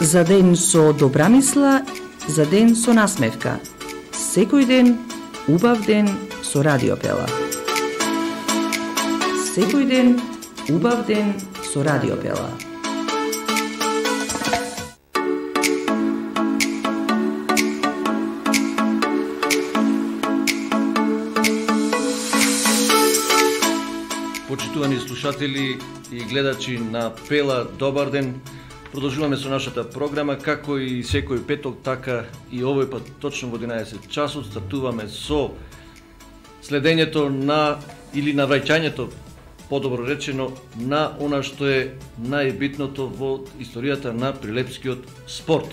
За ден со добра мисла, за ден со насмевка. Секој ден, убав ден со Радио Пела. Секој ден, убав ден со Радио Пела. Почитувани слушатели и гледачи на Пела, добар ден. Продолжуваме со нашата програма, како и секој петок, така и овој пат точно во 11 часот стартуваме со следењето на или навраќањето, подобро речено, на она што е најбитното во историјата на прилепскиот спорт.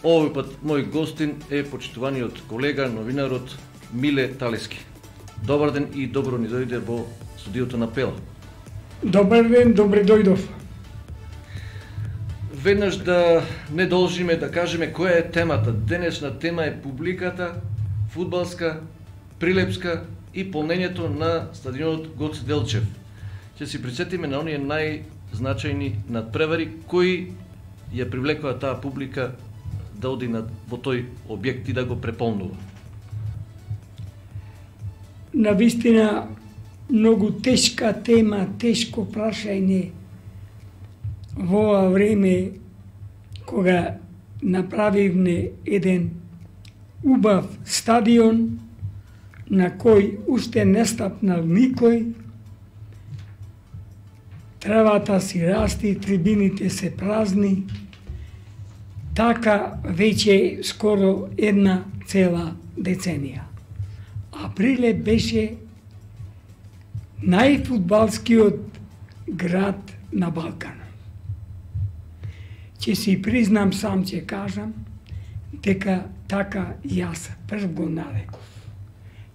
Овој пат мој гостин е почитуваниот колега, новинарот Миле Талески. Добар ден и добро ни дојде во студиото на Пела. Добар ден, добре дојдов. Веднаш да не должиме да кажеме која е темата. Денешна тема е публиката, фудбалска, прилепска и полнењето на стадионот Гоце Делчев. Ќе си присетиме на оние најзначајни надпревари кои ја привлекува таа публика да оди во тој објект и да го преполнува. Навистина, многу тешка тема, тешко прашање во ова време кога направивме еден убав стадион на кој уште не стапнал никој, травата си расти, трибините се празни, така веќе скоро една цела деценија. А Прилеп беше најфудбалскиот град на Балканот. Ќе си признам, сам ќе кажам, дека така јас прв го нареков,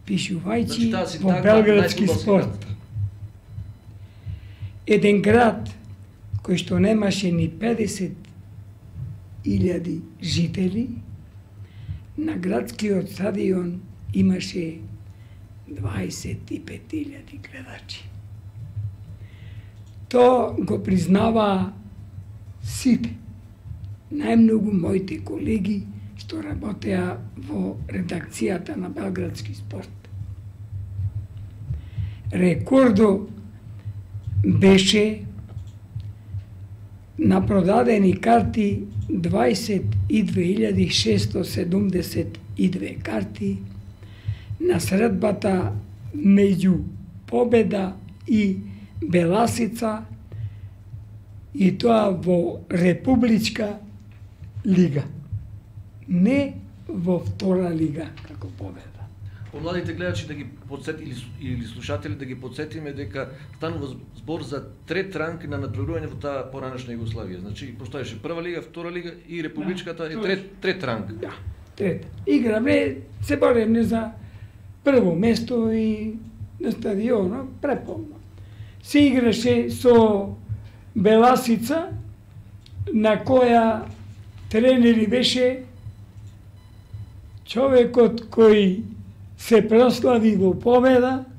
пишувајќи во Белградски спорт. Еден град кој што немаше ни 50.000 жители, на градскиот стадион имаше 25.000 гледачи. То го признава сите. Најмногу моите колеги што работеа во редакцијата на Белградски спорт. Рекордо беше на продадени карти 22.672 карти на средбата меѓу Победа и Беласица, и тоа во Републичка лига, не во втора лига како Победа. Помладите гледачи да ги подсети или слушатели да ги подсетиме дека станува збор за трет ранг на надпреварување во таа поранешна Југославија. Значи постоеше прва лига, втора лига и републичката е трет ранг. Да, трет. Играве, се боревме за прво место и на стадионот преполно. Се играше со Беласица, на која тренери беше човекот кој се прослави во Победа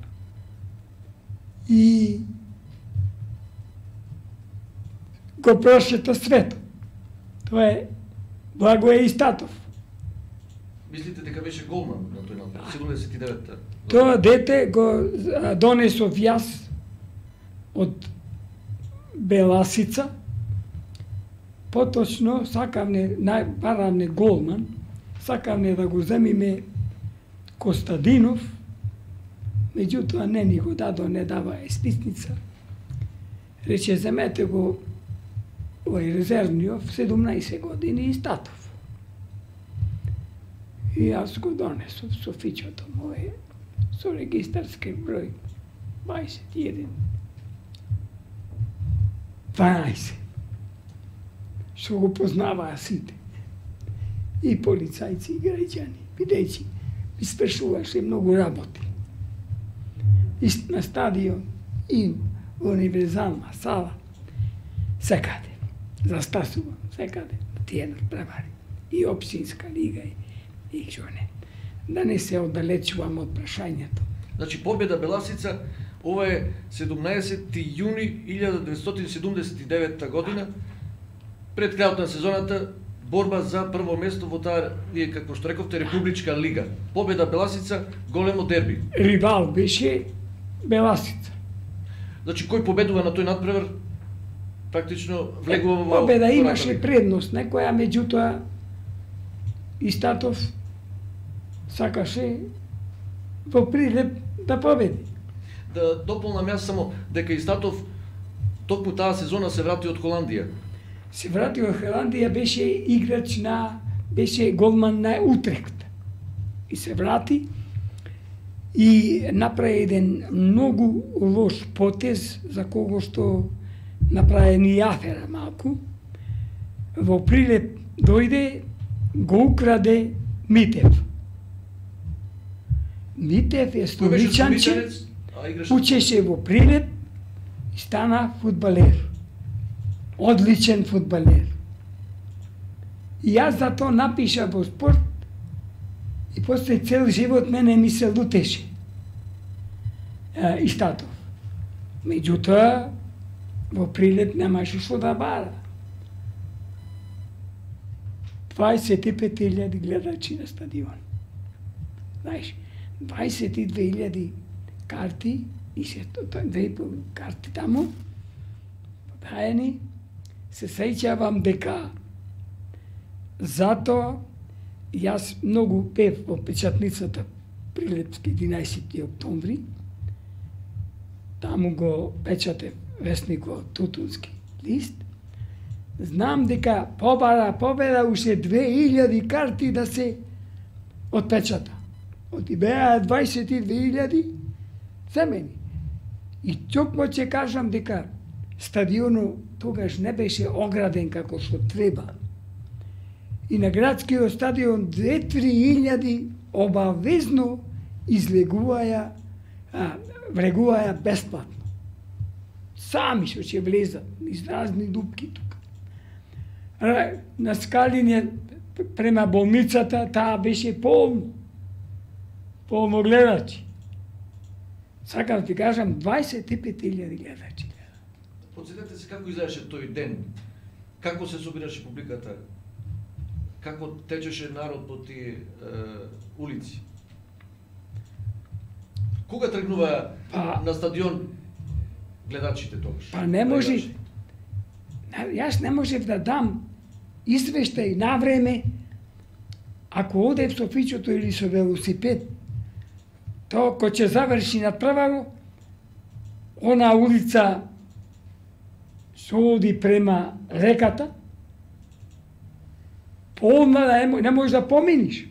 и го прошета светот. Тоа е Благоје Истатов. Мислите дека беше голман на тој напад, 79-та? Тоа дете го донесов јас од Беласица. Поточно сакавме, баравме голман, сакавме да го земиме Костадинов, меѓутоа не ни го дадо, не дава списница. Рече, земете го овој резервниот, 17 години и Статов. И јас го донесов со фичото моје, со регистарски број 21. 12. Што го познаваа сите. И полицајци, и граѓани, бидејќи ми свршуваше многу работи. И на стадион, и во универзална сала, секаде. Застасувам, секаде, тие надпревари. И општинска лига, и жоне. Да не се оддалечувам од прашањето. Значи, Победа Беласица, ова е 17. јуни 1979 година, пред крајот на сезоната борба за прво место во таа, вие како што рековте, Републичка лига. Победа Беласица, големо дерби. Ривал беше Беласица. Значи кој победува на тој надпревар, практично влегува во победа имаше предност, некоја, меѓутоа Истатов сакаше во Прилеп да победи. Да дополнам јас само дека Истатов токму таа сезона се врати од Холандија. Се врати од Холандија, беше играч беше голман на Утрехт. И се врати и направи еден многу лош потез за кого што направи ни афера малку. Во Прилеп дојде, го украде Митев. Митев е столичанче, учеше во Прилеп и стана фудбалер. Одличен фудбалер. И јас за тоа напиша во Спорт и после цел живот мене ми се лутеше Истатов. Меѓутоа, во Прилеп немаше што да бара. 25.000 гледачи на стадион. Знаеш, 22.000 карти и се две карти таму подаени. Се сеќавам дека затоа јас многу пев во печатницата Прилепски 11. октомври. Таму го печатев весникот Тутунски лист. Знам дека победа уште 2000 карти да се отпечата. Оти беа 22.000 земени. И токму ќе кажам дека стадионот тогаш не беше ограден како што треба. И на градскиот стадион 2-3 обавезно влегуваја бесплатно. Сами што ќе влезат из разни дупки тука. На Скалиње према болницата таа беше полно гледачи. Сакам ти кажам 25.000 гледачи. Подсетете се како изгледаше тој ден, како се собираше публиката, како течеше народ по тие улици. Кога тргнува на стадион гледачите тогаш? Па не може. Јас не можев да дам извештај на време ако одев со фичото или со велосипед. Тоа кој ќе заврши на прваро, она улица се оди према реката, полна не можеш да поминиш.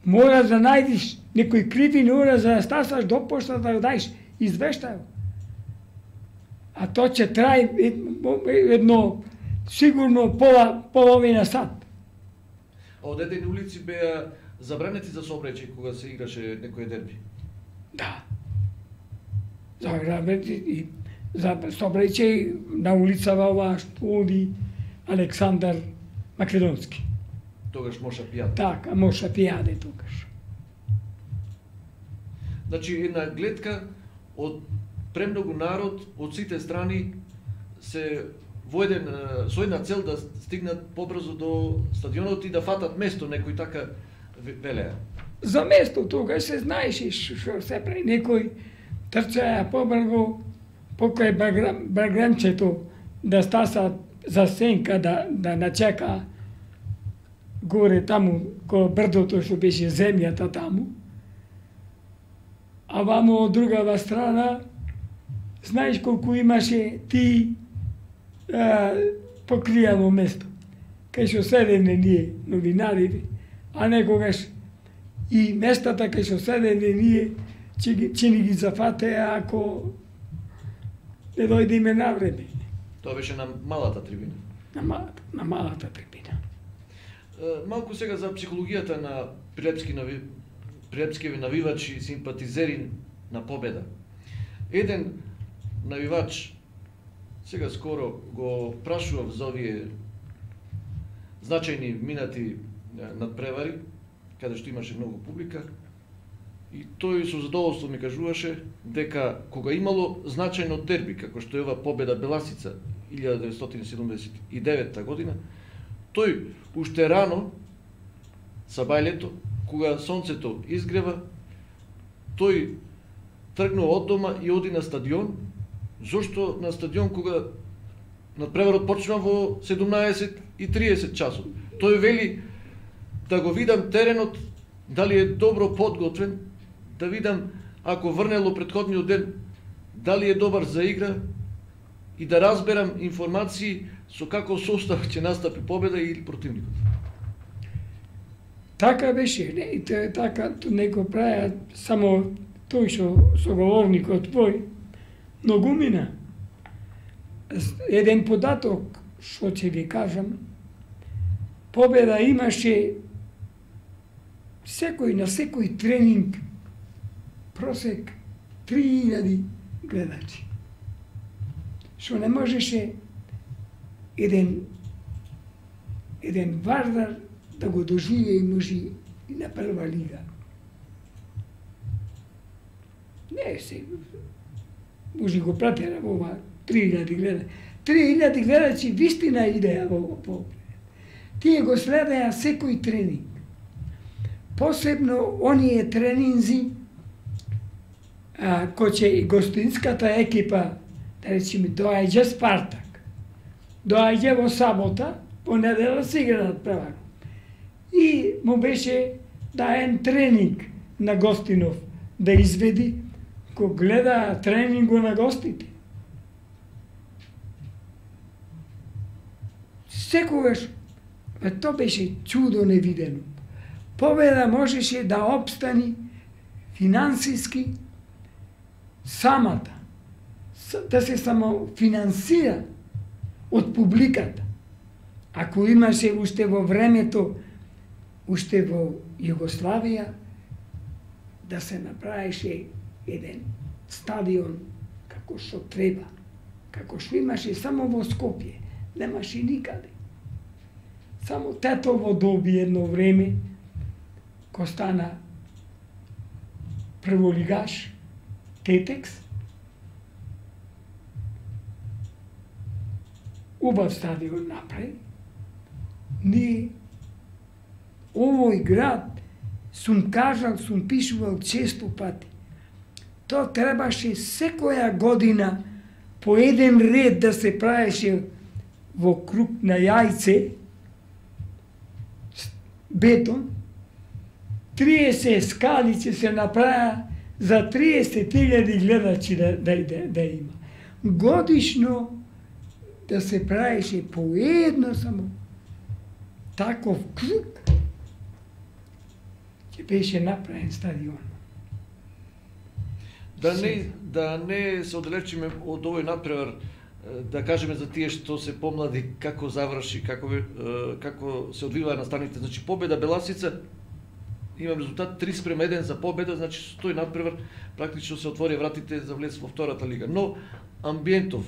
Мораш да најдиш некој кривини, мораш да стасаш до пошта да дајш извештај. А тоа ќе трае едно сигурно половина сат. А одедени улици беа забранети за сообраќај кога се играше некој дерби? Да. Забранети за сообраќај на улицава оваа што оди Александар Македонски. Тогаш Моша Пијаде. Така, Моша Пијаде тогаш. Значи една гледка од премногу народ од сите страни се со една цел да стигнат побрзо до стадионот и да фатат место, некој така велеа. За место тогаш се знаеше што се прави, некој трчаја побрзо покрај баграмчето да стаса за сенка да начека горе таму ко брдото што беше земјата таму. А вамо од другава страна знаеш колку имаше ти покријано место, кај што седене ние новинарите, а некогаш и местата кај што седене ние че ни ги зафатеа ако не дојдеме на време. Тоа беше на малата трибина. На малата трибина. Малку сега за психологијата на прилепскиви навивачи и симпатизери на победа. Еден навивач сега скоро го прашував за овие значајни минати надпревари, каде што имаше многу публика, и тој со задоволство ми кажуваше дека кога имало значајно дерби, како што е ова победа Беласица 1979 година, тој уште рано, сабајлето, кога сонцето изгрева, тој тргнува од дома и оди на стадион. Зошто на стадион кога надпреварот почна во 17:30 часот? Тој вели да го видам теренот, дали е добро подготвен, да видам ако врнело претходниот ден, дали е добар за игра и да разберам информации со каков состав ќе настапи победа или противникот. Така беше, не, и така не го правеа само тој што соговорникот твој, многу мина. Еден податок што ќе ви кажам, победа имаше на секој тренинг просек 3000 гледачи. Што не можеше еден Вардар да го доживее и може и на прва лига. Не се, може го пратера во ова 3000 гледачи. 3000 гледачи вистина идеја во победа. Тие го следеа секој тренинг. Посебно оние тренинзи кој ќе гостинската екипа, да речеме, доаѓа Спартак, доаѓа во сабота, по недела се игра надпревар. И му беше даен тренинг на гостинов да изведи, кој гледа тренингу на гостите. Секогаш, тоа беше чудо невидено. Победа можеше да обстани финансиски самата, да се самофинансира од публиката. Ако имаше уште во времето, уште во Југославија, да се направеше еден стадион како што треба, како што имаше само во Скопје, немаше никаде. Само Тетово доби едно време, кој стана прволигаш, Тетекс, убав стадион направи. Ние, овој град, сум кажал, сум пишувал често пати, тоа требаше секоја година по еден ред да се правеше во круг на јајце, бетон, 30 скали ќе се направа за 30.000 гледачи да има. Годишно да се правеше по едно само таков круг, ќе беше направен стадион. Да не се оддалечиме од овој надпревар, да кажеме за тие што се помлади, како заврши, како се одвиваа настаните. Значи, победа Беласица, имам резултат 3:1 за победа, значи со тој надпревар практично се отвори вратите за влез во втората лига. Но амбиентов,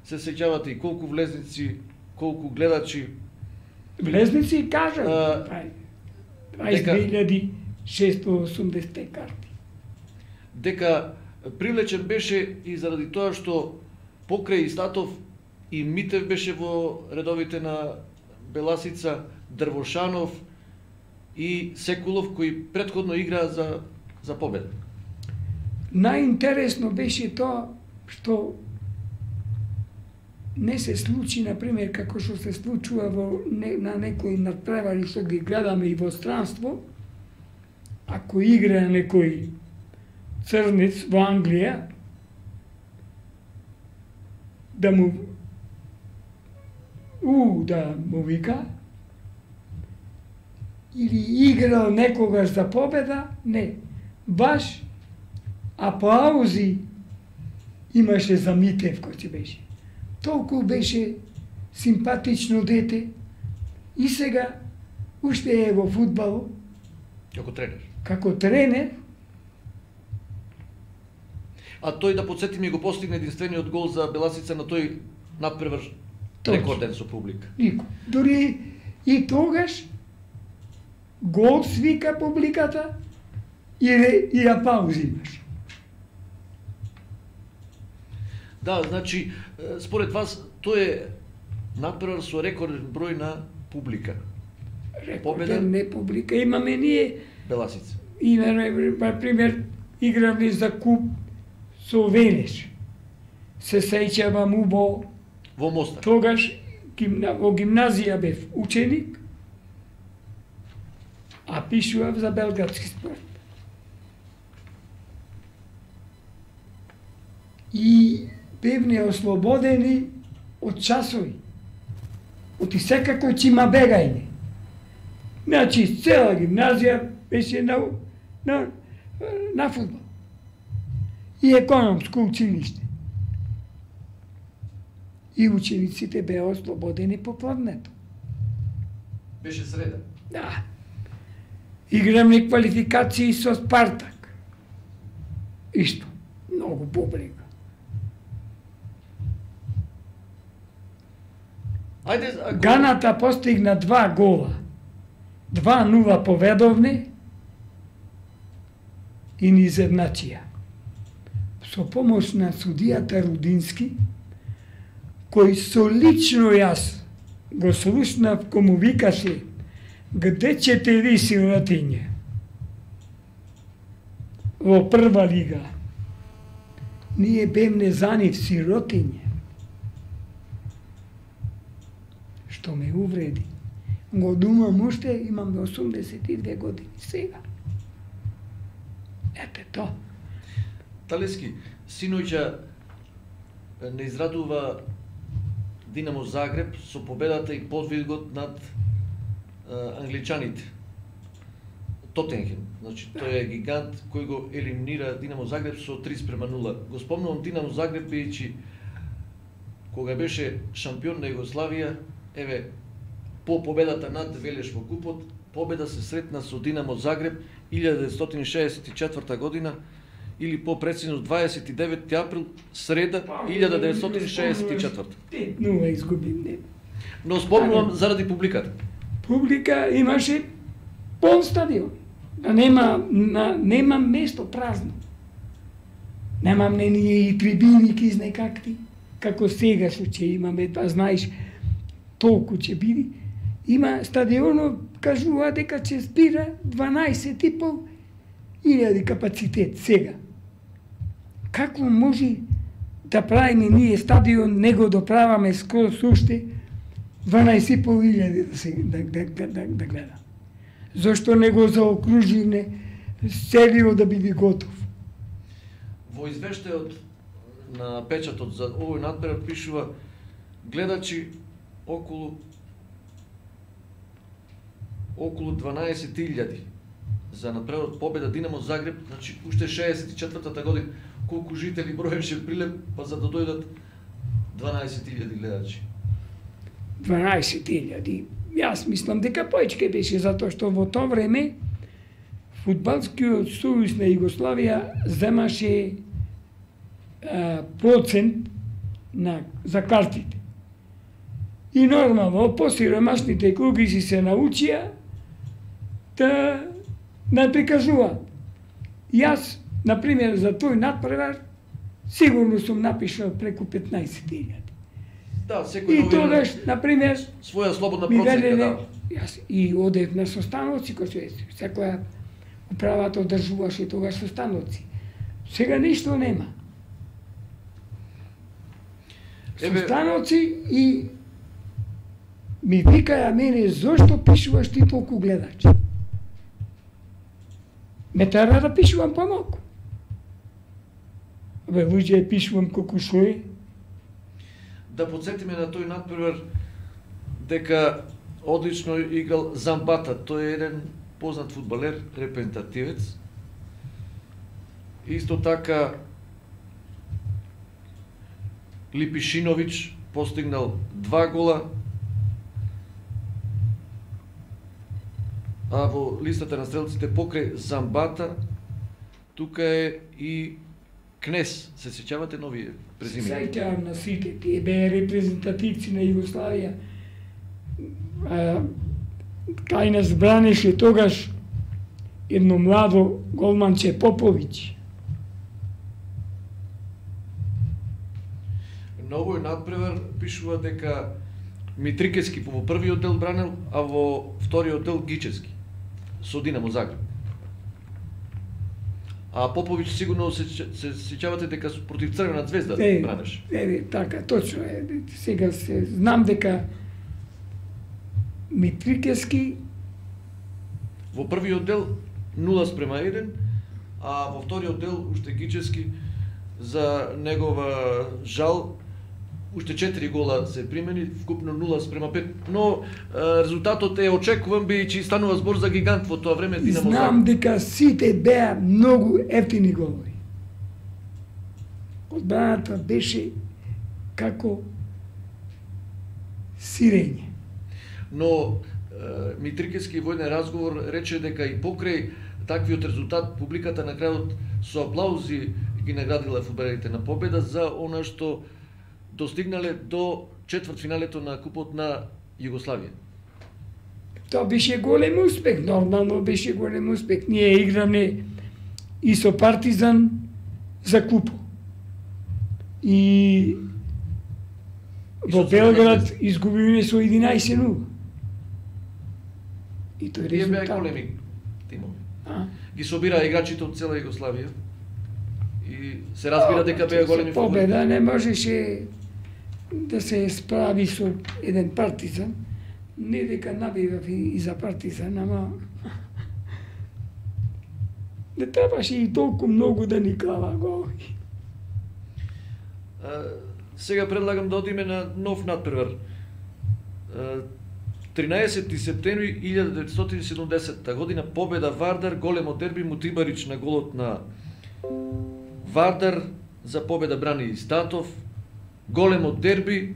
се сеќавате и колку влезници, колку гледачи. Влезници кажам, 22.680 карти. Дека привлечен беше и заради тоа што покрај Истатов и Митев беше во редовите на Беласица, Дрвошанов и Секулов, кои претходно играа за победа. Најинтересно беше тоа што не се случи, например, како што се случува на некои надпревари што ги гледаме и во странство, ако игра некој црнец во Англија, да му вика, или играл некогаш за победа, не. Баш аплаузи имаше за Митев кој ќе беше. Толку беше симпатично дете и сега уште е во фудбалот. Како тренер. А тој, да подсетиме, го постигне единствениот гол за Беласица на тој надпревар рекорден со публика. Никој. Дори и тогаш гол свика публиката и аплаузи имаш. Да, значи, според вас, тој е натпревар со рекорден број на публика. Рекорден не публика. Имаме ние... Беласица. Имаме, например, играме за куп со Велеш. Се сеќавам убаво. Во Мостар. Тогаш во гимназија бев ученик, а пишував за белградски спорт. И бевме ослободени од часови. Оти секако ќе има бегање. Значи, цела гимназија беше на фудбал. И економско училиште. И учениците беа ослободени попладнето. Беше среда. Да. Играмни квалификации со Спартак. Исто. Многу публика. Ајде, Ганата постигна 2 гола. 2-0 поведовни и ни изедначија. Со помош на судијата Рудински, кој со лично јас го слушнав, кој му викаше: "Где ćete ви, сиротиње?" Во прва лига. Ние бевме за нив сиротиње. Што ме увреди. Го думам уште, имам 82 години сега. Ете то. Талески, синоќа не израдува Динамо Загреб со победата и подвигот над англичаните. Тотенхем. Значи, тој е гигант кој го елиминира Динамо Загреб со 3:0. Го спомнувам Динамо Загреб, бидејќи кога беше шампион на Југославија, еве, по победата над Велеш во купот, победа се сретна со Динамо Загреб 1964 година, или по-прецизно 29 април, среда 1964. 5-0 изгубим, не. Но спомнувам заради публиката. Публика имаше пол стадион. Нема место празно. Немам не ние и трибини кизне какти, како сега случај имаме, да знаеш, толку ќе биде. Има стадионот, кажува дека ќе спира 12.500 капацитет сега. Како може да правиме ние стадион, не го доправаме скоро уште 12.500 да гледа? Зошто не го заокруживме целиот да биде готов? Во извештајот на печатот за овој надпревар пишува гледачи околу 12.000 за надпреварот победа Динамо Загреб, значи уште 64-та година колку жители броеше Прилеп, па за да дојдат 12.000 гледачи. 12.000. Јас мислам дека поечке беше, затоа што во тоа време Фудбалскиот сојуз на Југославија земаше процент за картите. И нормално, посиромашните клуби си се научија да не прикажуваат. Јас, например, за тој надпревар, сигурно сум напишал преку 15.000. Да, секој и тогаш, например, своја слободна проценка дава. Јас и одев на состаноци, кој секоја управата одржуваше тогаш состаноци. Сега ништо нема. Состаноци и ми викаја мене, зошто пишуваш ти толку гледачи? Ме тера да пишувам помалку. Бе, луѓе, пишувам колку што е. Да подсетиме на тој надпревар дека одлично играл Замбата. Тој е еден познат фудбалер, репрезентативец. Исто така Липишиновиќ постигнал 2 гола, а во листата на стрелците покрај Замбата тука е и Кнес. Се сеќавате нови презимени? Сеќавам на сите, тие беа репрезентативци на Југославија. Кај нас бранеше тогаш едно младо голманче Поповиќ. на овој надпревар пишува дека Митрикески во првиот дел бранел, а во вториот дел Гичевски со Динамо Загреб. А Поповиќ сигурно се сеќавате дека против Црвена звезда бранеш. Така, точно е. Сега се знам дека Митрикески во првиот дел 0:1, а во вториот дел уште Гичевски за негова жал уште 4 гола се примени, вкупно 0:5, но резултатот е очекуван, бидејќи станува збор за гигант во тоа време Динамо Загреб. Знам дека сите беа многу ефтини голови. Одбраната беше како сирење. Но Митрикески во еден разговор рече дека и покрај таквиот резултат публиката на крајот со аплаузи ги наградила фудбалерите на победа за она што достигнале до четвртфиналето на Купот на Југославија. Тоа беше голем успех, нормално беше голем успех. Ние играме и со Партизан за Купо. И во Белград изгубиме со 11:0. И тој резултат. Беа големи тимови. Ги собира играчите од цела Југославија. И се разбира дека беа големи фудбалери. Победа не можеше да се справи со еден Партизан. Не дека набивав и за Партизан, ама не требаше и толку многу да ни клава голови. Сега предлагам да одиме на нов надпревар. 13 септември 1970 година победа Вардар, големо дерби, Мутибарич на голот на Вардар, за победа брани и Статов. Големо дерби,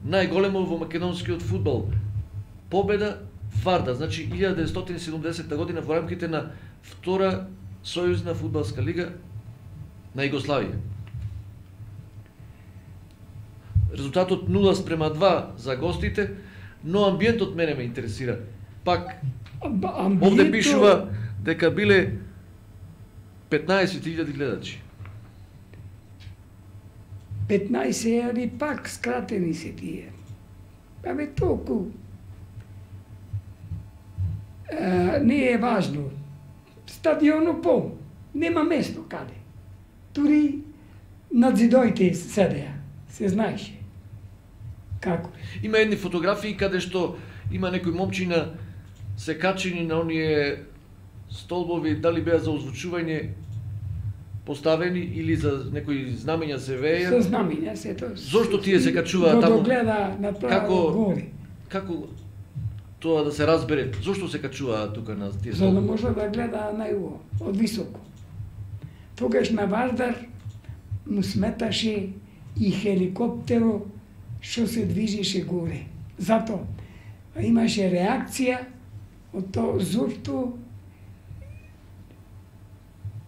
најголемо во македонскиот фудбал. Победа Вардар, значи 1970 година во рамките на втора сојузна фудбалска лига на Југославија. Резултатот 0:2 за гостите, но амбиентот мене ме интересира. Пак, овде пишува дека биле 15.000 гледачи. 15 али пак скратени се тие. Абе толку. Не е важно. Стадионот пол. Нема место каде. Тури над зидоите седеа. Се знаеше. Како? Има едни фотографии каде што има некои момчина се качени на оние столбови, дали беа за озвучување поставени или за некои знамења се вееја. Со знамења се тоа. Зошто тие се качуваат таму? Гледа направо горе. Како тоа да се разбере? Зошто се качуваат тука на тие столбови? За да може да гледа најуво, од високо. Тогаш на Вардар му сметаше и хеликоптеро што се движеше горе. Зато имаше реакција од тоа зошто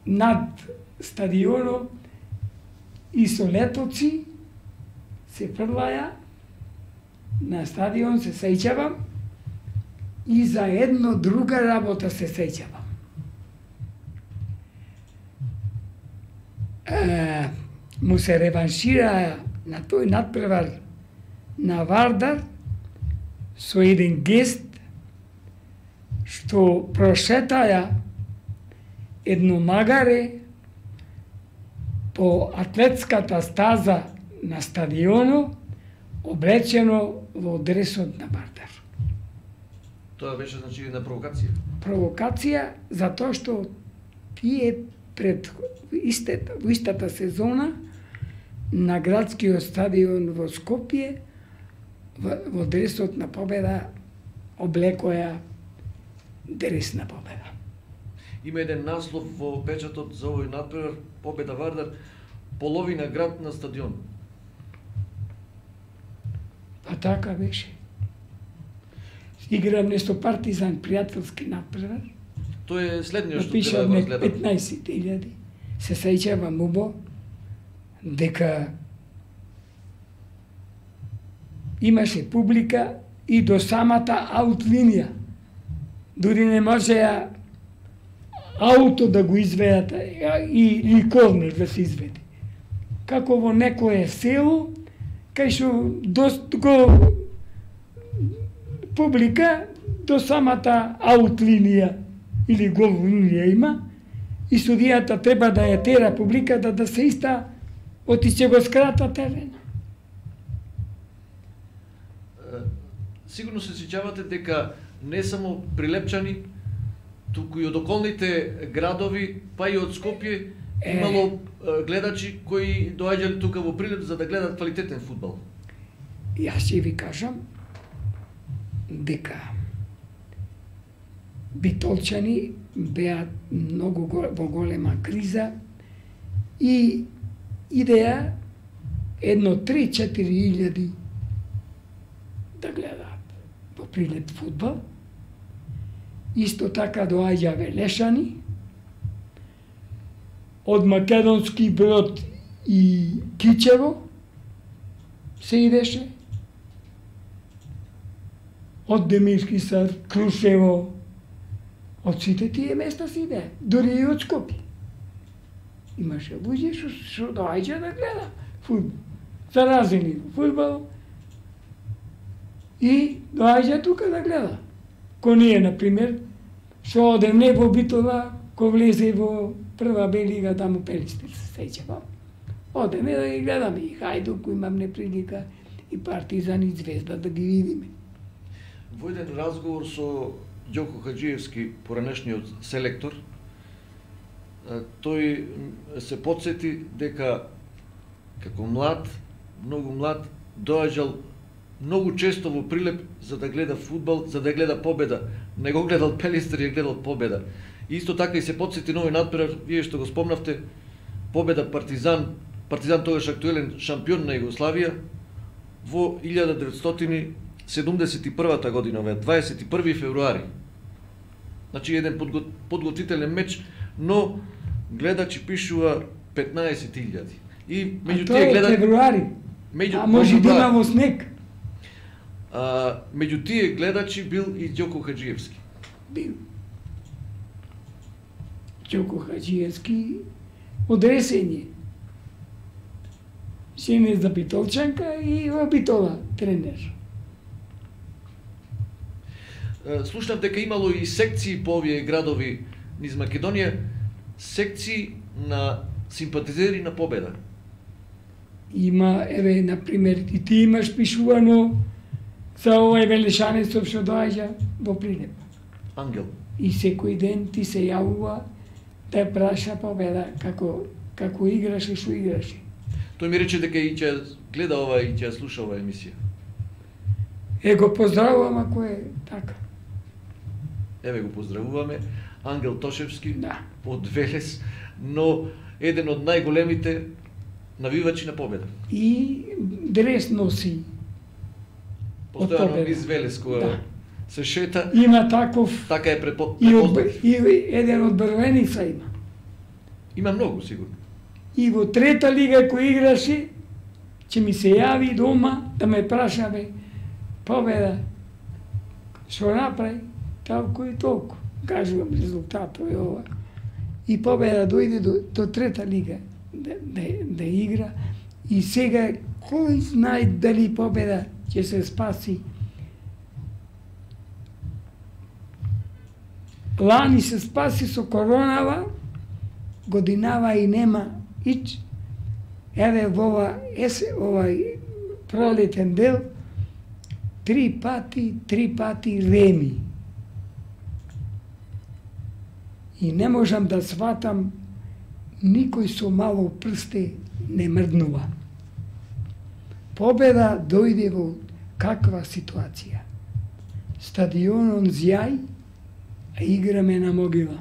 над стадионот и со летоци се фрлаја на стадион, се сеќавам, и за едно друга работа се сеќавам. Му се реваншира на тој надпревар на Вардар со еден гест што прошетаја едно магаре по атлетската стаза на стадионот, облечено во дресот на Вардар. Тоа беше значи една провокација. Провокација затоа што тие пред во истата сезона на градскиот стадион во Скопје во дресот на победа облекоја дрес на победа. Има еден наслов во печатот за овој надпревар победа Вардар, половина град на стадион. А така беше. Играме со Партизан пријателски надпревар. Тоа е следниот што напишав треба да разгледам. 15.000. Се сеќавам убо дека имаше публика и до самата аут линија. Дури не можеа ауто да го изведат и корнер да се изведе. Како во некое село кај што го публика до самата аут линија или гол линија има и судијата треба да ја тера публиката да се иста отиќе го скрата терена. Сигурно се сеќавате дека не само Прилепчани, туку и од околните градови, па и од Скопје, имало гледачи кои доаѓале тука во Прилеп за да гледат квалитетен фудбал. Јас ќе ви кажам дека битолчани беа многу во голема криза и идеја едно 3-4 илјади да гледаат во Прилеп фудбал. Исто така доаѓа Велешани, од Македонски Брод и Кичево се идеше, од Демирски Сад, Крушево, од сите тие места се иде, дури и од Скопје. Имаше луѓе што доаѓа да гледа фудбал, заразени во фудбал и доаѓа тука да гледа. Ко ние, например, што одеме во Битола, ко влезе во прва Б лига, таму Пелистер се сеќавам. Одеме да ги гледаме и Хајдук, имаме прилика, и Партизан и Звезда да ги видиме. Во еден разговор со Ѓоко Хаџиевски, поранешниот селектор, тој се потсети дека како млад, многу млад, доаѓал многу често во Прилеп за да гледа фудбал, за да гледа победа. Не го гледал Пелистер, ја гледал победа. И исто така и се потсети на овој надпревар, вие што го спомнавте, победа Партизан, Партизан тогаш актуелен шампион на Југославија во 1971 година, 21 февруари. Значи еден подготвителен меч, но гледачи пишува 15.000. И меѓу тие гледачи февруари. А може да има во снег. Меѓу тие гледачи бил и Ѓоко Хаџиевски. Бил. Ѓоко Хаџиевски од Ресење. Сине за Битолчанка и во Битола тренер. Слушнав дека имало и секции по овие градови низ Македонија, секции на симпатизери на победа. Има, еве, например, и ти имаш пишувано за овој велешанецов што доаѓа во Прилеп. Ангел. И секој ден ти се јавува да праша победа како играше, што играше. Тој ми рече дека и ќе гледа ова и ќе слуша ова емисија. Го поздравувам ако е така. Еве го поздравуваме. Ангел Тошевски, да, од Велес, но еден од најголемите навивачи на победа. И дрес носи. Постојано низ Велес кога да се шета. Има таков. Така е препознат. И еден од Брвеница има. Има многу сигурно. И во трета лига кој играше, ќе ми се јави дома да ме прашаме победа. Што направи? Толку и толку. Кажувам резултатот е ова. И победа дојде до трета лига да игра. И сега кој знае дали победа ќе се спаси. Лани се спаси со коронава, годинава и нема ич. Еве во овај пролетен дел, три пати реми. И не можам да сватам, никој со мало прсте не мрднува. Победа дојде во каква ситуација? Стадионон зјај, а играме на могила.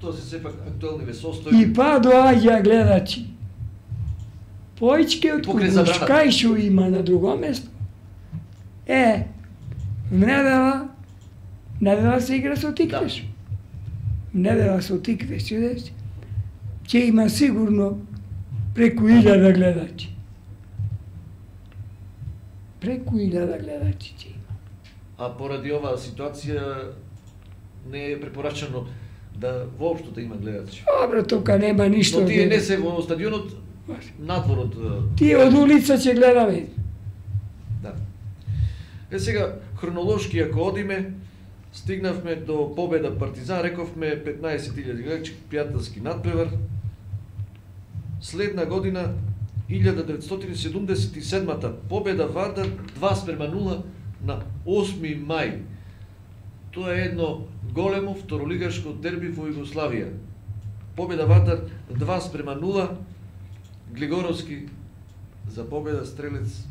Тоа се сепак актуелни ве состојби. И па доаѓа гледачи. Поичке од Кугушкај што има на друго место. Недела се игра со Тиквеш. Недела со Тиквеш, ќе има сигурно преку 1000 гледачи. Преку 1000 гледачи ќе има. А поради оваа ситуација не е препорачано да воопшто да има гледачи. Добро, тука нема ништо. Но тие не се во стадионот, надвор од... Тие од улица ќе гледаме. Да. Сега, хронолошки ако одиме, стигнавме до победа Партизан, рековме 15.000 гледачи, пријателски надпревар. Следна година, 1977-та, победа Вардар 2:0 на 8 мај. Тоа е едно големо второлигашко дерби во Југославија. Победа Вардар 2:0, Глигоровски за победа, стрелец.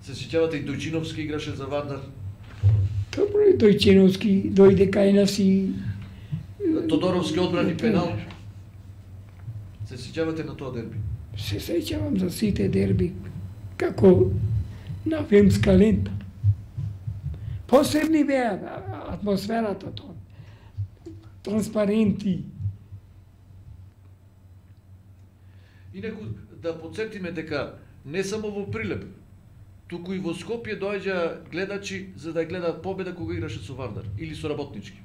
Се сеќавате и Дојчиновски играше за Вардар. Добро, и Дојчиновски дојде кај нас и... Тодоровски одбрани пенал. Се сеќавате на тоа дерби? Се сеќавам за сите дерби, како на филмска лента. Посебни беа атмосферата тоа. Транспаренти. Инаку да подсетиме дека не само во Прилеп, туку и во Скопје доаѓа гледачи за да гледаат победа кога играше со Вардар или со Работнички.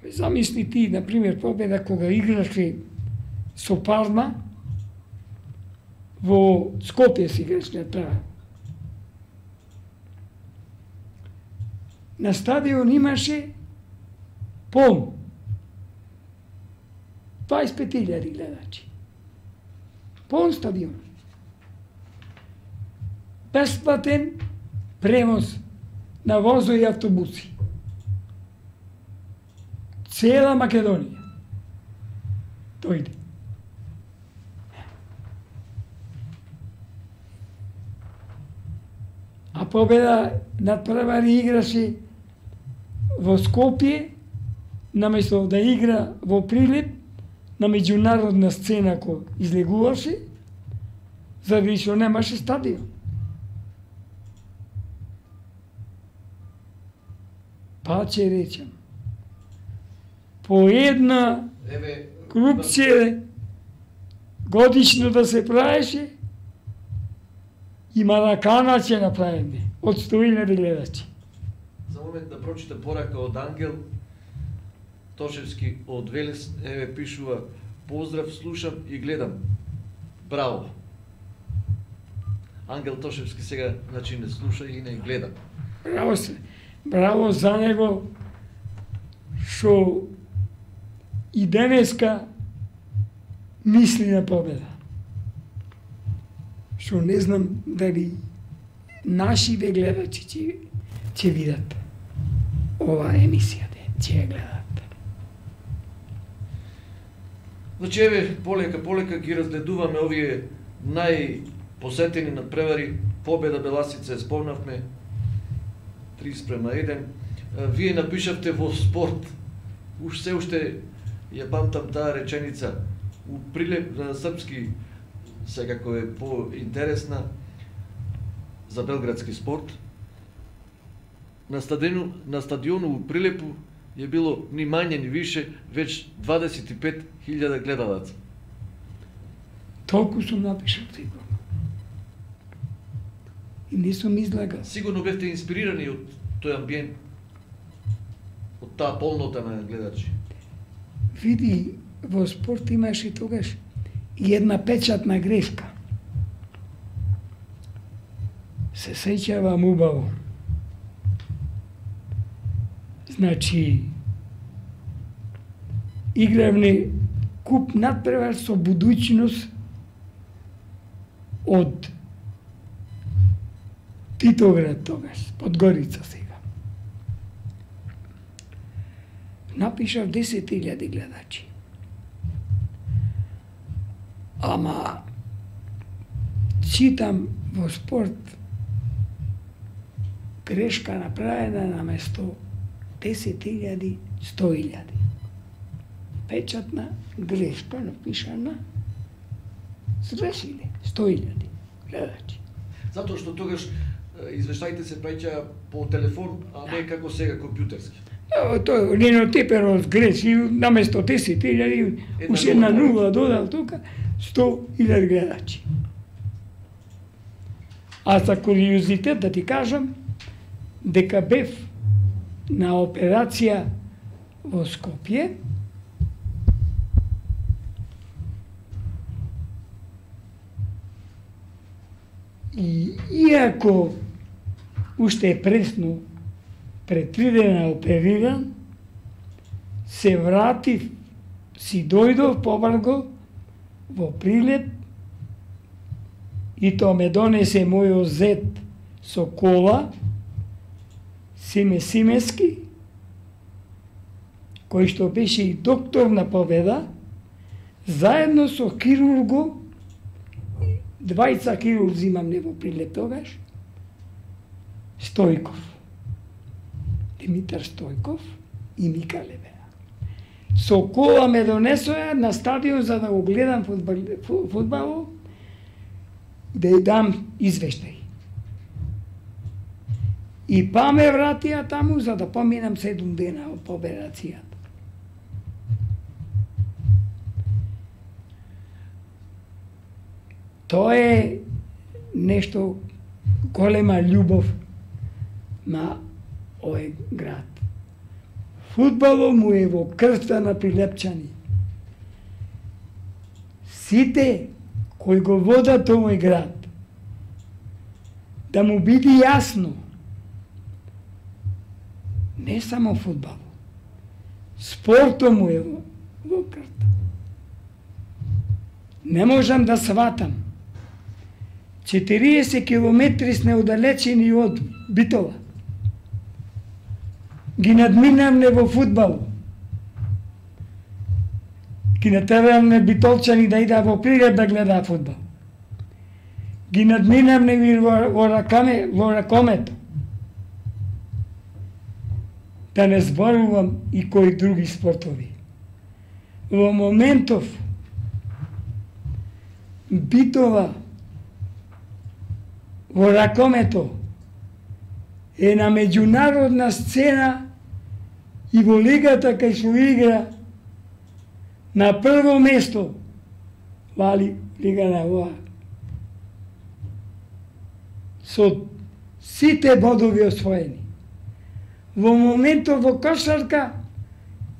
Замисли ти, например, победа кога играше со Парма, во Скопје си играше права. На стадион имаше полн. 25.000 гледачи. Полн стадион. Бесплатен превоз на возо и автобуси. Цела Македонија дојде. А победа надпревари играше во Скопје, наместо да игра во Прилеп, на меѓународна сцена кој излегуваше, заради што немаше стадион. Па ќе речем, по една крупција годишно да се правеше, и Маракана ќе направиме од 100.000 гледачи. За момент да прочитам порака од Ангел Тошевски од Велес, пишува: поздрав, слушам и гледам. Браво. Ангел Тошевски сега, значи, не слуша и не гледа. Браво се. Браво за него, што и денеска мисли на победа. Што не знам дали нашите гледачи ќе видат ова емисија, ќе ја гледат. Значи, еве, полека ги разгледуваме овие најпосетени надпревари. Победа Беласица спомнавме, 3:1. Вие напишавте во Спорт, се уште ја памтам таа реченица, у Прилеп на српски, секако е поинтересна, за белградски Спорт. На стадиону у Прилепу е било ни мање ни више веќе 25.000 гледалаци. Толку сум напишал сигурно. И не сум излагал. Сигурно бевте инспирирани од тој амбиент, од таа полнота на гледачи. Види, во Спорт имаше тогаш и една печатна грешка. Се сеќавам убаво. Значи, игравме куп надпревар со будуќност од Титоград тогаш, Подгорица сега. Напишав 10.000 гледачи. Ама, читам во Спорт грешка направена на место 10.000, 100.000. Печатна грешка напишана, сгрешиле 100.000 гледачи. Затоа што тогаш извештаите се праќа по телефон, а не како сега компјутерски. Тој линотипер сгреши, наместо 10.000, уште една нула додал тука, 100.000 гледачи. А за куриозитет да ти кажам, дека бев на операција во Скопје И иако уште е пресно, пред 3 дена опериран, се вратив, си дојдов побрзо во Прилеп и тоа ме донесе мојот зет со кола, Симе Симески, кој што беше и доктор на Победа, заедно со хирурго, 2 хирурзи имам во Прилеп тогаш, Стојков, Димитар Стојков и Мика Левеа. Со кола ме донесоа на стадион за да го гледам фудбал, да ја дам извештај. И па ме вратија таму за да поминам 7 дена по операцијата. Тоа е нешто голема љубов на овој град. Фудбалот му е во крвта на прилепчани. Сите кои го водат овој град, да му биде јасно, не само фудбал, спортот му е во крвта. Не можам да сватам 40 километри сме оддалечени од Битола. Ги надминавме во фудбал. Ги натеравме битолчани да ида во Прилеп да гледа фудбал. Ги надминавме во ракомето. Да не зборувам и кои други спортови. Во моментов Битола во ракомето е на меѓународна сцена и во лигата кај што игра на прво место вали лига на ова со сите бодови освоени. Во моментот во кошарка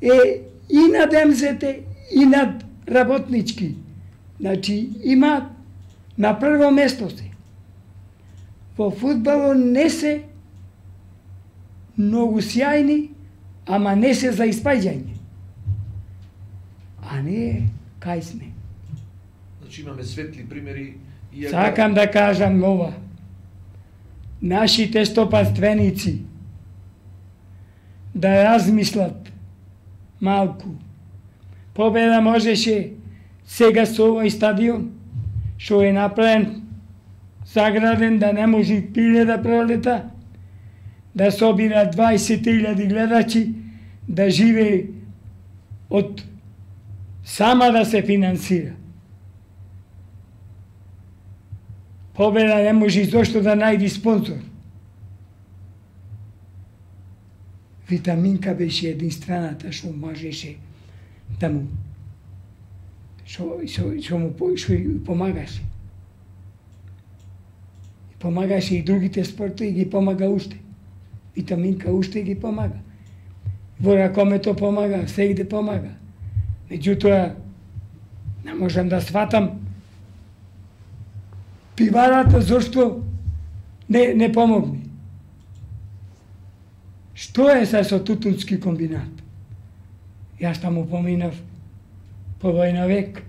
е и над МЗТ и над работнички. Значи има на прво место се. Во фудбалот не се многу сјајни, ама не се за испаѓање. А не кај сме. Значи имаме светли примери. Сакам да кажам ова. Нашите стопанственици да размислат малку. Победа можеше сега со овој стадион, што е направен, заграден да не може пиле да пролета, да собира 20.000 гледачи, да живее од сама да се финансира. Победа не може зошто да најди спонсор. Витаминка беше единствената што можеше да му што му помагаше. Помагаше и другите спортови, ги помага уште. Витаминка уште ги помага. Во ракомето помага, сегде помага. Меѓутоа, не можам да сватам пиварата зашто не помогни. Што е со тутунски комбинат? Јас таму поминав по војна век.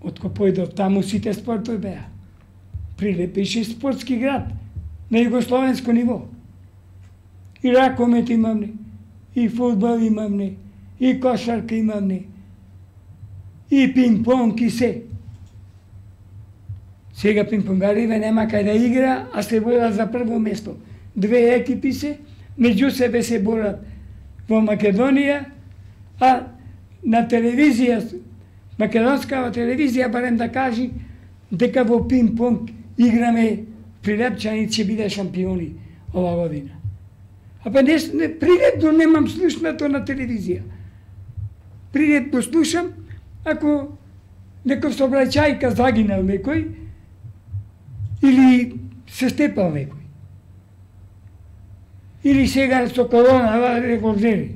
Откако појдов таму сите спортови беа. Прилеп беше спортски град на југословенско ниво. И ракомет имамне, и фудбал имамне, и кошарка имамне, и пинг-понг и се. Сега пинг-понгариве нема кај да игра, а се борат за прво место. 2 екипи се, меѓу себе се борат во Македонија, а на телевизија, македонскава телевизија барем да кажи дека во пинг-понг играме Прилепчани ќе биде шампиони ова година. А па Прилеп го немам слушнато на телевизија. Прилеп го слушам ако некој сообраќајка загинал некој или се степал некој. Или сега со корона револвери.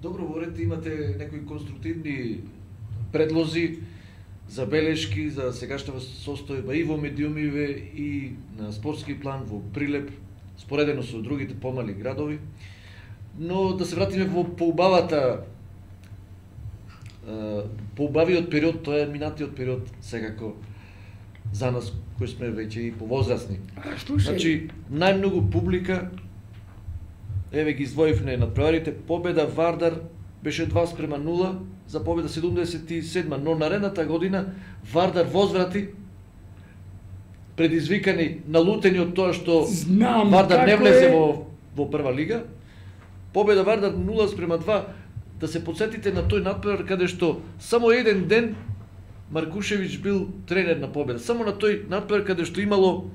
Добро, ворете, имате некои конструктивни предлози. забелешки за сегашната состојба и во медиумиве и на спортски план во Прилеп, споредено со другите помали градови. Но да се вратиме во поубавиот период, тоа е минатиот период секако за нас кои сме веќе и повозрасни. Значи, најмногу публика, еве ги издвоивме надпреварите, победа Вардар беше 2:0 за победа 77, но наредната година Вардар возврати предизвикани, налутени од тоа што Вардар не влезе во прва лига. Победа Вардар 0:2, да се подсетите на тој надпревар каде што само еден ден Маркушевиќ бил тренер на победа. Само на тој надпревар каде што имало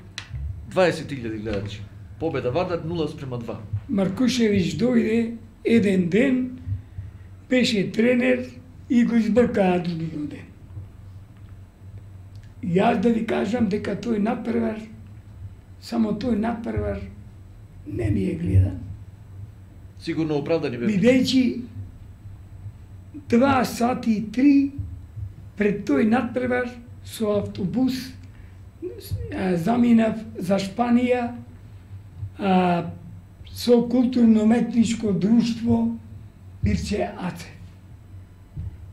20.000 гледачи. Победа Вардар 0:2. Маркушевиќ дојде еден ден, беше тренер и го избркаа другиот ден. Јас да ви кажам дека тој надпревар, само тој надпревар не ми е гледан. Сигурно оправдани бе. Бидејќи 2 сати и 3 пред тој надпревар со автобус заминав за Шпанија со културно-уметничко друштво Бирче Аце.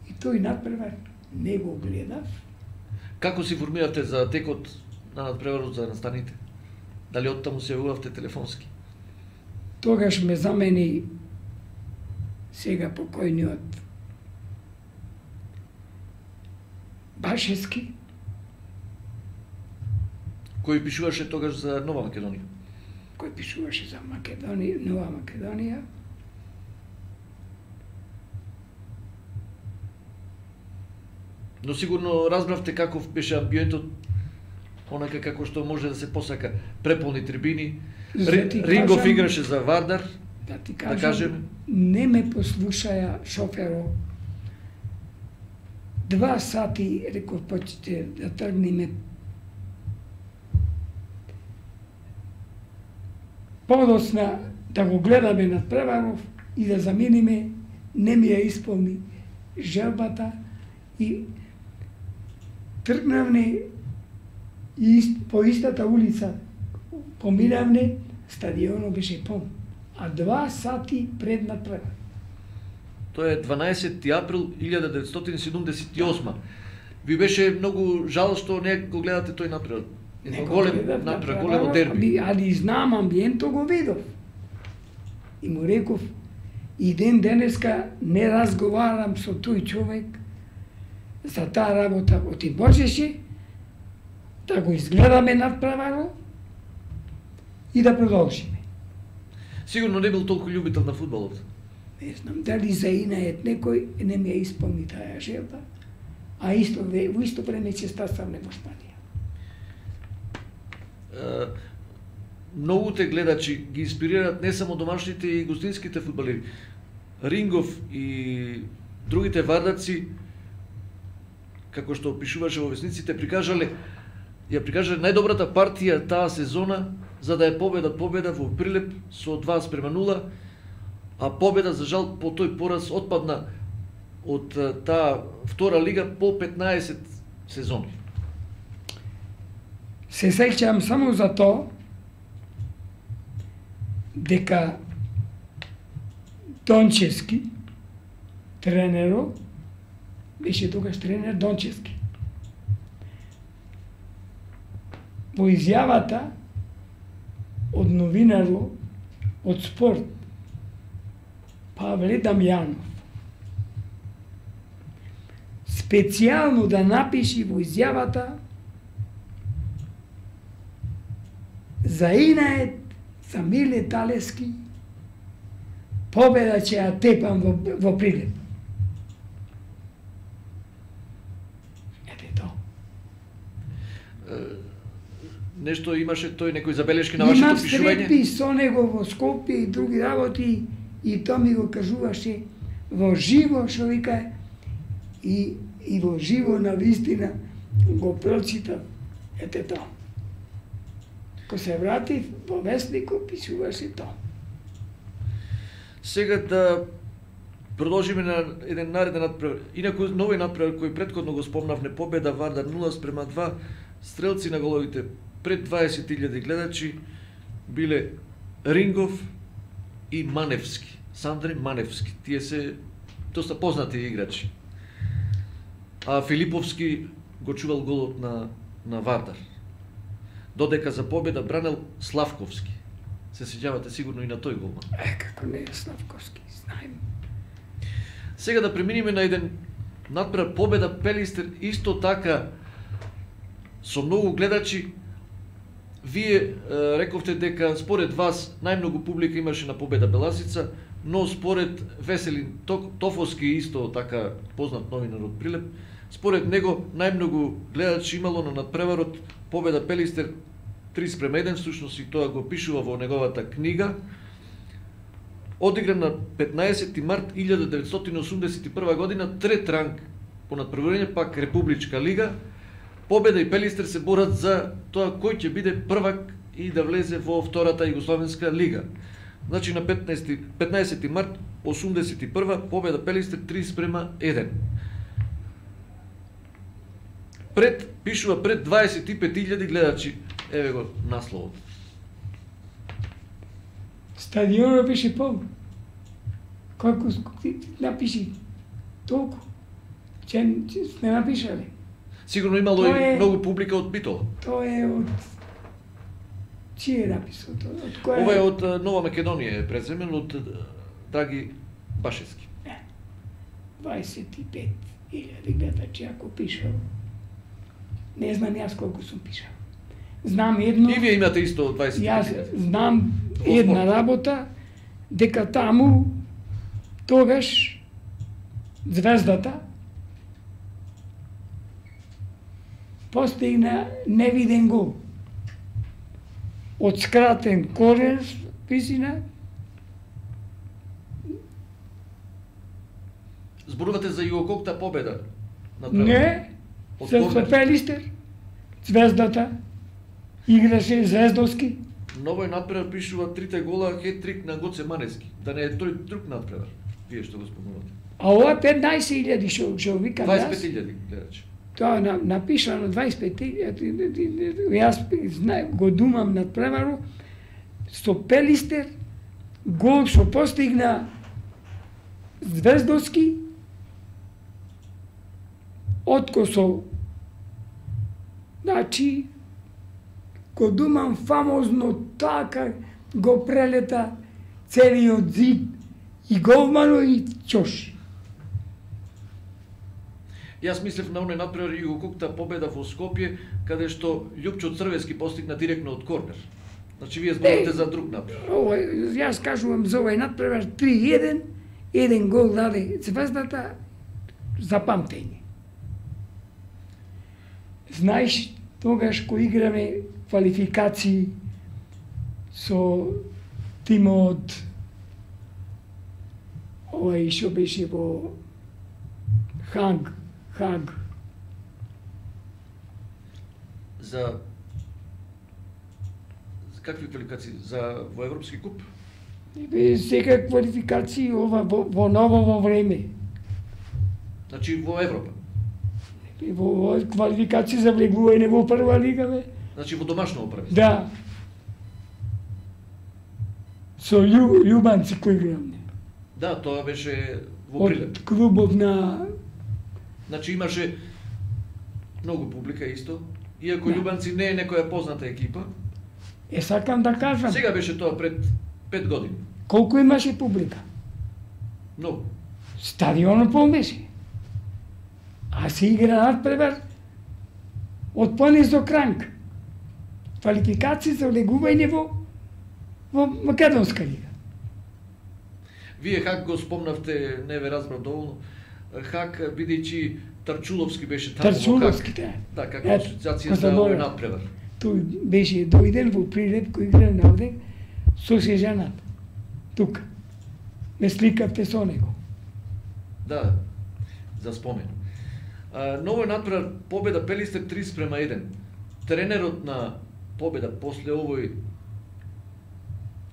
И тој надпревар не го гледав. Како се информиравте за текот на надпреварот за настаните? Дали оттаму се јавувавте телефонски? Тогаш ме замени сега покојниот Башевски, кој пишуваше тогаш за Нова Македонија. Кој пишуваше за Македонија, Нова Македонија. Но сигурно разбравте каков беше амбиентот, онака како што може да се посака, преполни трибини. Рингов играше за Вардар, да ти кажем, не ме послушаја шоферо. 2 сати, реков, почете да тргнеме подосна да го гледаме надпреваров и да заминиме, не ми ја исполни желбата и тргнавне и по истата улица поминавне, стадионот беше пон, а 2 сати пред надпревар. Тоа е 12 април 1978. Ви беше многу жал што не го гледате тој надпревар. Големо дерби. Али знам амбиентот го видов. И му реков, и денеска не разговарам со тој човек за таа работа. Оти можеше да го изгледаме надпреварот и да продолжиме. Сигурно не бил толку љубител на фудбалот. Не знам дали заинајат некој не ми ја исполни таа желба, а во исто време ќе стасавме во Шпанија. Многуте гледачи ги инспирираат не само домашните и гостинските фудбалери. Рингов и другите вардарци, како што опишуваше во весниците, прикажале најдобрата партија таа сезона, за да е победа во Прилеп со 2:0, а победа за жал по тој пораз отпадна од таа втора лига по 15 сезони. Се сеќавам само за тоа дека Дончевски, тренерот, беше тогаш тренер Дончевски. Во изјавата од новинарот од спорт Павле Дамјанов специјално да напиши во изјавата заинает за Миле Талески победа ќе ја тепам во Прилеп. Ете тоа. Нешто имаше тој некои забелешки на вашето пишување? Имам сретби со него во Скопје и други работи и тоа ми го кажуваше во живо, што вика, и во живо на вистина го прочитав. Ете тоа. Ко се вратив во вестникот, пишуваше тоа. Сега да Продолжиме на еден нареден надпревар. Инаку нови надпревар кој претходно го спомнавме, победа Вардар 0:2, стрелци на головите пред 20.000 гледачи биле Рингов и Маневски. Сандре Маневски. Тие се доста познати играчи. А Филиповски го чувал голот на Вардар. Додека за победа бранел Славковски. Се сеќавате сигурно и на тој голман. Како не е Славковски, знаем. Сега да преминиме на еден надпревар победа Пелистер, исто така со многу гледачи. Вие рековте дека според вас најмногу публика имаше на победа Беласица, но според Веселин Тофовски, исто така познат новинар од Прилеп, според него најмногу гледачи имало на надпреварот победа Пелистер 3:1, всушност и тоа го пишува во неговата книга. Одигран на 15 март 1981 година, трет ранг по надпреварење, пак Републичка лига. Победа и Пелистер се борат за тоа кој ќе биде првак и да влезе во втората Југословенска лига. Значи на 15 март 81 победа Пелистер 3:1. Пишува пред 25.000 гледачи. Еве го насловот. Стадионот беше полн. Колку напиши толку. Че сме напишале. Сигурно имало и многу публика од Битола. Тоа е од чие написал тоа? Од која? Ова е од Нова Македонија, преземен од Драги Башевски. 25.000 гледачи ако пишал. Не знам јас колку сум пишал. Знам едно. И вие имате исто 20.000. Јас знам една работа дека таму тогаш Звездата постигна невиден гол. Од скратен корен висина. Зборувате за Југококта победа? Не, со Пелистер, Звездата, играше Звездовски. Новој надпревар пишува трите гола хет-трик на Гоце Маневски. Да не е тој друг надпревар, вие што го спомнувате. А ова 15.000 што викам јас. 25.000 гледачи. Тоа напишано 25.000, јас го думам надпреварот со Пелистер, гол што постигна Звездовски, откосол. Значи, го думам фамозно така го прелета целиот зид и голмано и чош. Јас мислев на оној надпревар Југококта победа во Скопје, каде што Љупчо Црвески постигна директно од корнер. Значи вие зборувате за друг надпревар. Јас кажувам за овој надпревар 3:1, еден гол даде Звездата за памтење. Знаеш, тогаш кој играме квалификации со тимот овој што беше во Хаг. За какви квалификации? За во Европски куп? Сега квалификации ова во ново време. Значи во Европа? Во квалификации за влегување во прва лига, бе. Значи во домашно оправи? Да. Со Љубанци кој играме. Да, тоа беше во Прилеп. Од клубов на... Значи имаше многу публика исто, иако Љубанци не е некоја позната екипа. Сакам да кажам. Сега беше тоа пред 5 години. Колку имаше публика? Многу. Стадионот полн беше. А се игра надпревар од понизок ранг. Квалификации за влегување во Македонска лига. Вие Хак го спомнавте, не ве разбрав доволно. Хак, бидејќи Тарчуловски беше таму. Тарчуловски, да. Да, како асоциација за овој надпревар. Тој беше дојден во Прилеп кој игра навде со сежаната. Тука. Ме сликавте со него. Да, за спомен. Новој надпревар победа Пелистер 3:1. Тренерот на победа после овој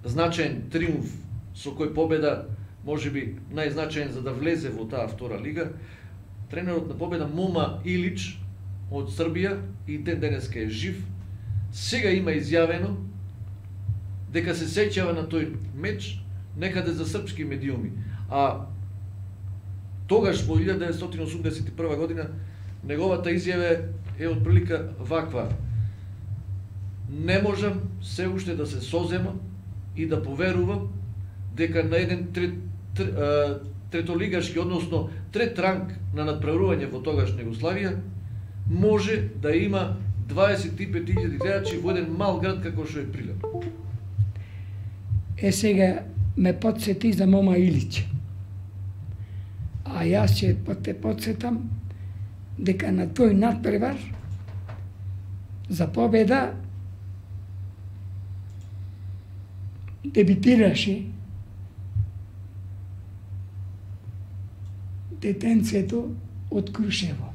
значаен триумф со кој победа можеби најзначаен за да влезе во таа втора лига, тренерот на Победа Мома Илич од Србија и ден денеска е жив. Сега има изјавено дека се сеќава на тој меч некаде за српски медиуми. А тогаш во 1981 година неговата изјава е отприлика ваква: не можам се уште да се соземам и да поверувам дека на еден третолигашки, односно трет ранг на надпреварување во тогашна Југославија, може да има 25.000 гледачи во еден мал град како што е Прилеп. Сега ме подсети за Мома Илич. А јас ќе те подсетам дека на тој надпревар за Победа дебитираше детенцето од Крушево.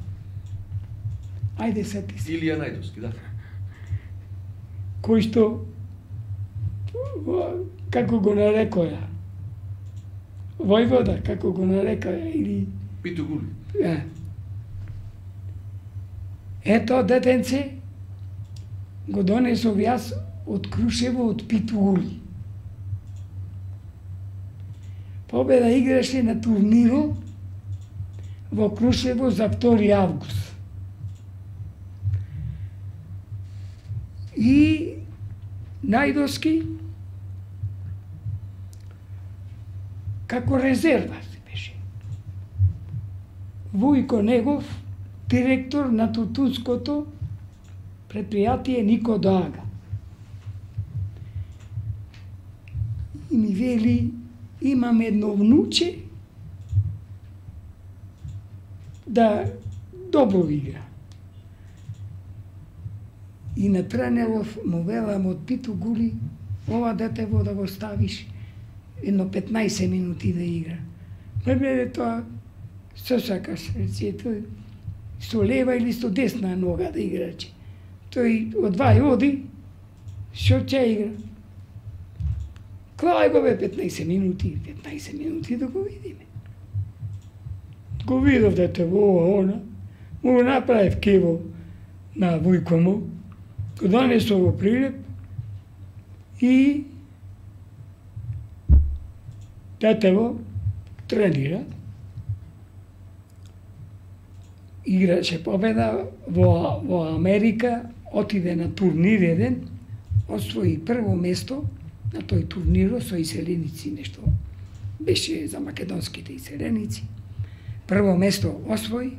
Ајде сети се. Илија Најдовски, да. Кој што, како го нарекоја, Војвода, како го нарекоја, или... Питу Гули. Ето детенце го донесов јас од Крушево, од Питу Гули. Победа играше на турниро во Крушево за 2 август. И Најдовски како резерва се беше. Вујко Негов, директор на тутунското предпријатие Нико Доага. И ми вели, имам едно внуче да добро игра. И на тренеров му велам од Питу Гули, ова детево да го ставиш едно 15 минути да игра. Пребеде тоа, што сакаш, рече, тој со лева или со десна нога да играче. Тој одвај оди, што ќе игра. Клај го бе 15 минути да го видиме. Го видов детево ова, она, му го направив кево на Вујко му, го донесо во Прилеп и детево тренира. Играше Победа во Америка, отиде на турнир еден, освои прво место на тој турниро со иселеници, нешто беше за македонските иселеници. Прво место освои,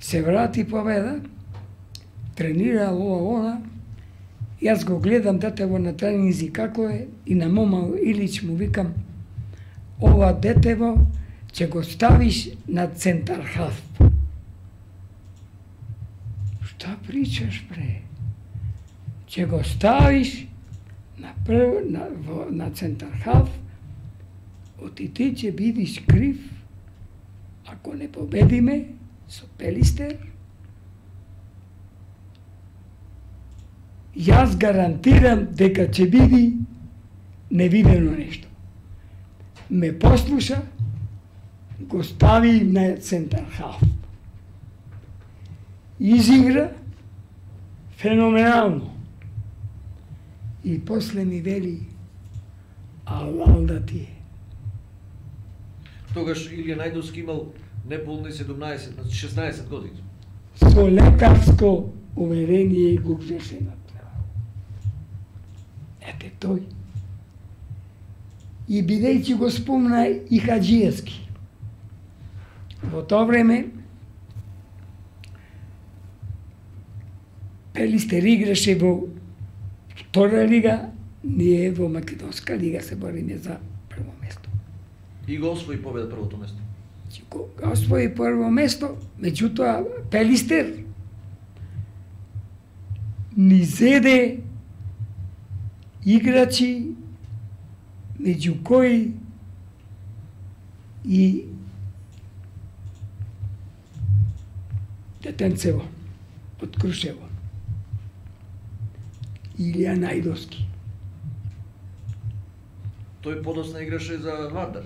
се врати Победа, тренира ова она, јас го гледам детево на тренинзи како е и на Мома Илич му викам, ова детево ќе го ставиш на центар халф. Шта причаш, бре? Ќе го ставиш на центар халф, оти ти ќе бидиш крив ако не победиме со Пелистер. Јас гарантирам дека ќе биде невидено нешто. Ме послуша, го стави на центар халф. Изигра феноменално. И после ми вели, алал да ти е. Тогаш Илија Најдовски имал неполни 16 години. Со лекарско уверение го вреше направо. Ете тој. И бидејќи го спомна и Хаджиевски. Во тоа време Пелистер играше во втора лига, ние во Македонска лига се бориме за прво место. И го освои Победа првото место. Го освои прво место, меѓутоа Пелистер ни зеде играчи меѓу кои и детенцево од Крушево. Илија Најдовски. Тој подосна играше за Вардар.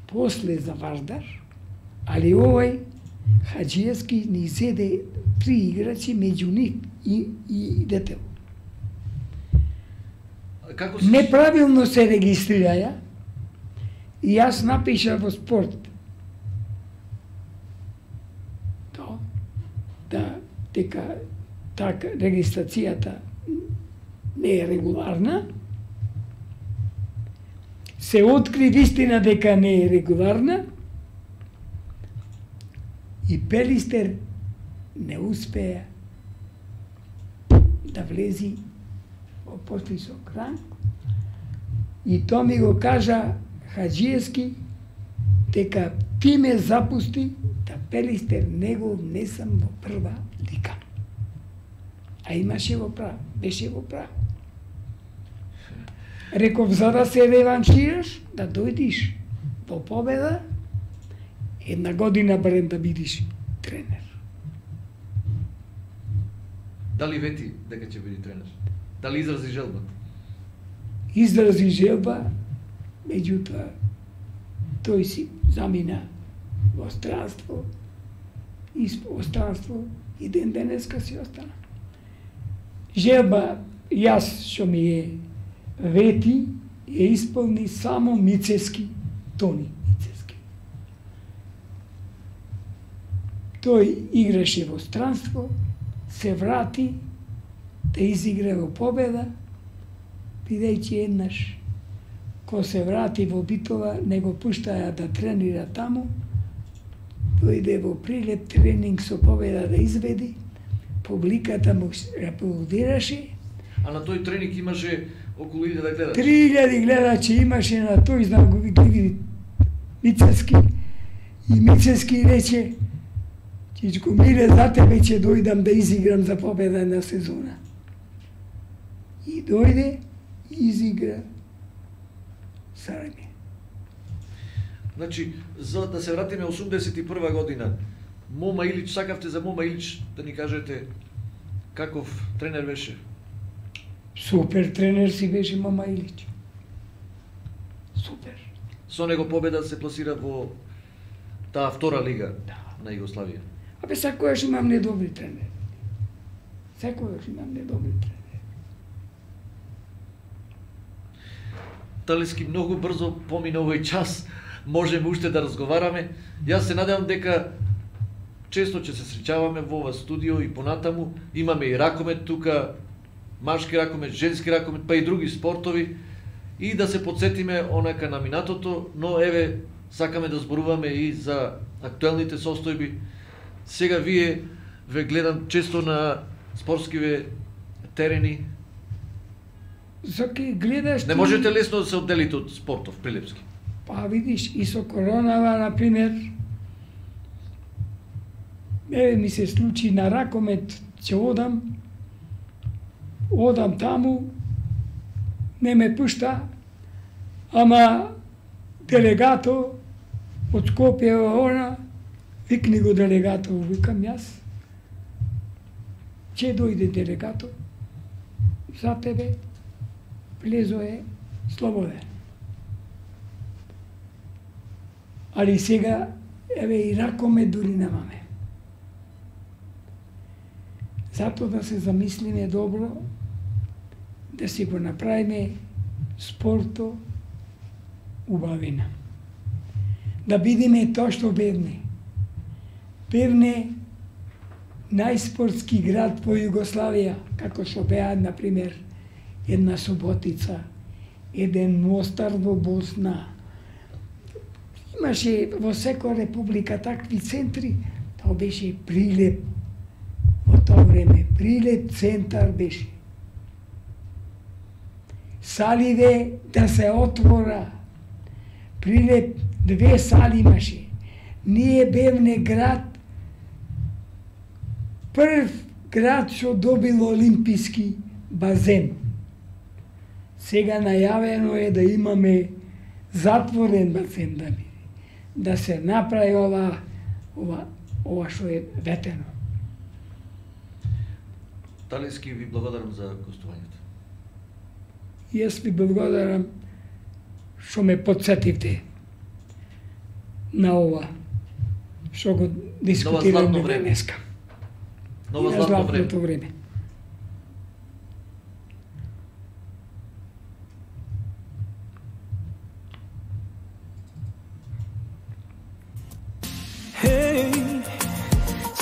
После за Вардар, али овој Хаджиевски ни зеде 3 играчи, меѓу нив и детел. Како се... Неправилно се регистрираја и јас напиша во Спорт дека така регистрацијата не е регуларна. Се откри вистина дека не е регуларна и Пелистер не успеа да влези во повисок ранг. И тоа ми го кажа Хаджиевски дека ти ме запусти да Пелистер не го внесам во прва лига. А имаше во право, беше во право. Реков, за да се реваншираш, да дојдиш во победа, една година барем да бидиш тренер. Дали вети дека ќе биде тренер? Дали изрази желба? Изрази желба, меѓутоа тој си замина во странство, и ден денеска си остана. Желба, јас што ми е вети, ја исполни само Мицески, Тони Мицески. Тој играше во странство, се врати да изигра во победа, бидејќи еднаш ко се врати во Битола, не го пуштаја да тренира таму, дојде во Прилеп тренинг со победа да изведи, публиката му аплодираше. А на тој тренинг имаше околу 1000 гледачи. 3000 гледачи имаше на тој, знам го види Мицески. И Мицески рече, Чичко Миле, за тебе ќе дојдам да изиграм за победа на сезона. И дојде и изигра Сараје. Значи, за да се вратиме 81 година, Мома Илич, сакавте за Мома Илич да ни кажете каков тренер беше? Супер тренер си беше Мома Илич. Супер. Со него победа се пласира во таа втора лига на Југославија. Абе, секојаш имам недобри тренери. Секојаш имам недобри тренери. Талески многу брзо помина овој час, можеме уште да разговараме. Јас се надевам дека често ќе се среќаваме во ова студио и понатаму. Имаме и ракомет тука, машки ракомет, женски ракомет, па и други спортови. И да се подсетиме онака на минатото, но еве, сакаме да зборуваме и за актуелните состојби. Сега вие ве гледам често на спортскиве терени. Заки гледаш... Не можете лесно да се одделите од спортов, Прилепски. Па видиш, и со коронава, например, ми се случи на ракомет, ќе одам таму, не ме пушта, ама делегато од Скопје она, викни го делегато, викам јас, ќе дојде делегато, за тебе, влезо е слободен. Али сега, еве и ракомет дури немаме. Зато да се замислиме добро, да си го направиме спорто убавина. Да бидеме тоа што Бевне. Бевне најспортски град во Југославија, како што беа, например, една Суботица, еден Мостар во Босна. Имаше во секоја република такви центри, тоа беше Прилеп. Во тоа време Прилеп центар беше. Саливе да се отвора. Прилеп 2 сали имаше. Ние Бевне град, прв град што добил олимписки базен. Сега најавено е да имаме затворен базен да биде. Да се направи ова што е ветено. Талески ви благодарам за гостувањето. И јас ви благодарам што ме подсетивте на ова што го дискутираме денеска. Ново златно време.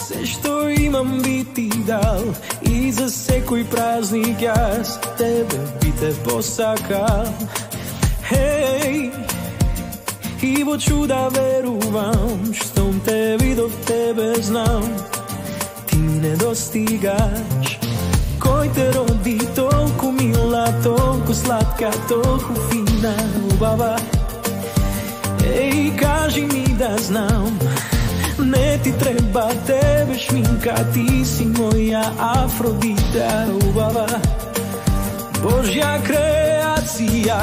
Се што имам би ти дал и за секој празник јас тебе би те посакал. И во чуда верувам, штом те видов тебе знам, ти ми недостигаш. Кој те роди толку мила, толку сладка, толку фина, убава. Кажи ми да знам, не ти треба тебе шминка, ти си моја Афродита, убава. Божја креација,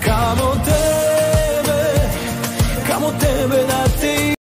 камо тебе да